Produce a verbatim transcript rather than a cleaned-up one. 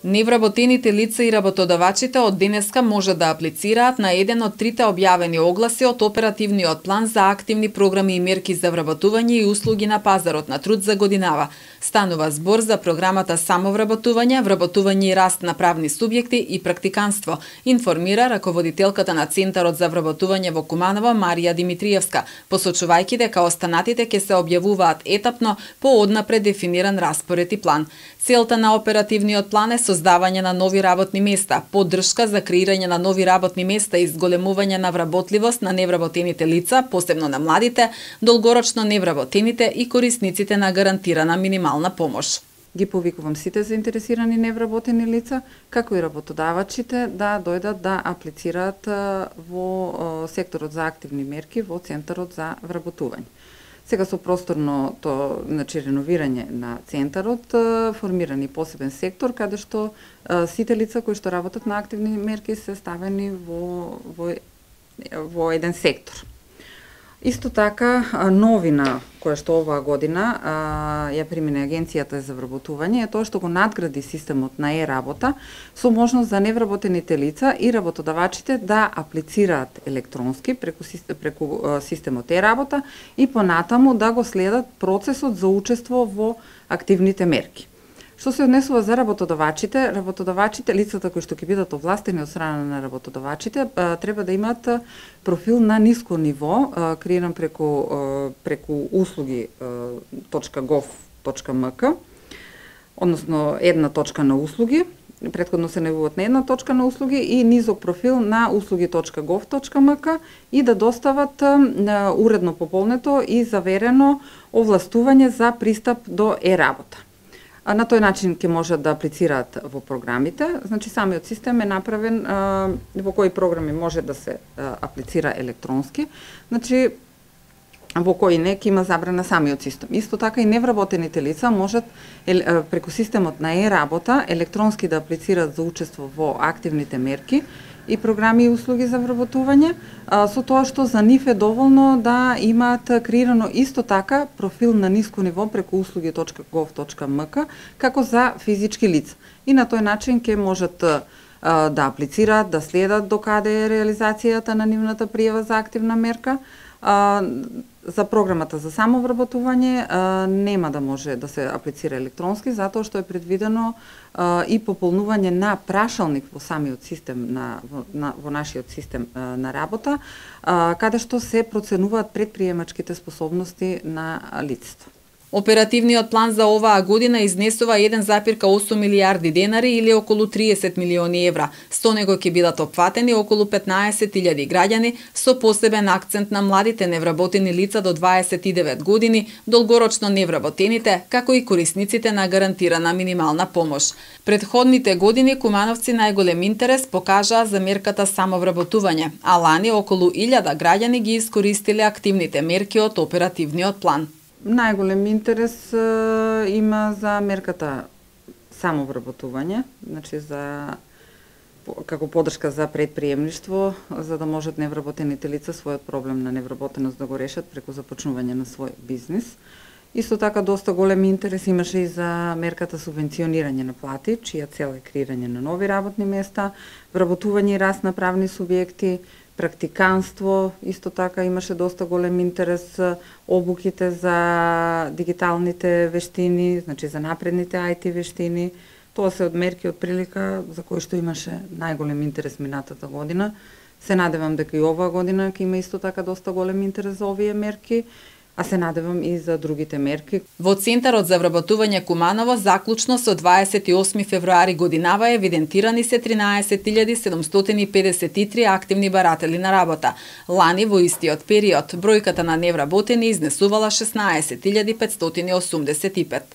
Невработените лица и работодавачите од денеска може да аплицираат на еден од трите објавени огласи од оперативниот план за активни програми и мерки за вработување и услуги на пазарот на труд за годинава. Станува збор за програмата самовработување, вработување и раст на правни субјекти и практиканство, информира раководителката на Центарот за вработување во Куманово Марија Димитриевска, посочувајќи дека останатите ќе се објавуваат етапно по однапред дефиниран распоред и план. Целта на оперативниот план е создавање на нови работни места, поддршка за креирање на нови работни места и зголемување на вработливост на невработените лица, посебно на младите, долгорочно невработените и корисниците на гарантирана минимална помош. Ги повикувам сите заинтересирани невработени лица, како и работодавачите да дојдат да аплицираат во секторот за активни мерки во Центарот за вработување. Сега со просторното, значи, реновирање на центарот, формирани посебен сектор каде што сите лица кои што работат на активни мерки се ставени во во, во еден сектор. Исто така, новина која што оваа година ја примине Агенцијата за вработување е тоа што го надгради системот на е-работа со можност за невработените лица и работодавачите да аплицираат електронски преку, преку системот е-работа и понатаму да го следат процесот за учество во активните мерки. Што се однесува за работодавачите, работодавачите, лицата кои што ќе бидат овластени од страна на работодавачите, треба да имаат профил на ниско ниво, креиран преку преку услуги точка гов точка ем ка, односно една точка на услуги, претходно се најавуваат на една точка на услуги и низок профил на услуги точка гов точка ем ка и да достават уредно пополнето и заверено овластување за пристап до е-работа. На тој начин ќе можат да аплицираат во програмите. Значи, самиот систем е направен во кои програми може да се аплицира електронски. Значи, во кои не ќе има забрана самиот систем. Исто така и невработените лица можат преку системот на е-работа електронски да аплицираат за учество во активните мерки и програми и услуги за вработување, со тоа што за нив е доволно да имаат креирано исто така профил на ниско ниво преку услуги точка гов точка ем ка како за физички лица. И на тој начин ќе можат да аплицираат, да следат до каде е реализацијата на нивната пријава за активна мерка. За програмата за самовработување нема да може да се аплицира електронски, затоа што е предвидено и пополнување на прашалник во самиот систем на во, на, во нашиот систем на работа, каде што се проценуваат предприемачките способности на лицето. Оперативниот план за оваа година изнесува еден запир осум милијарди денари или околу триесет милиони евра. Со него ќе бидат опфатени околу петнаесет илјади граѓани со посебен акцент на младите невработени лица до дваесет и девет години, долгорочно невработените, како и корисниците на гарантирана минимална помош. Предходните години кумановци најголем интерес покажаа за мерката самовработување, а лани околу илјада граѓани ги искористиле активните мерки од оперативниот план. Најголем интерес е, има за мерката самовработување, значи за како поддршка за предприемништво, за да можат невработените лица својот проблем на невработеност да го решат преку започнување на свој бизнис. Исто така доста голем интерес имаше и за мерката субвенционирање на плати, чија цел е креирање на нови работни места, вработување и раст на правни субјекти, практиканство, исто така имаше доста голем интерес обуките за дигиталните вештини, значи за напредните ај ти вештини. Тоа се од мерки од прилика за кои што имаше најголем интерес минатата година. Се надевам дека и оваа година ќе има исто така доста голем интерес за овие мерки, а се надевам и за другите мерки. Во Центарот за вработување Куманово заклучно со дваесет и осми февруари годинава евидентирани се тринаесет илјади седумстотини и педесет и три активни баратели на работа. Лани во истиот период бројката на невработени изнесувала шеснаесет илјади петстотини и осумдесет и пет.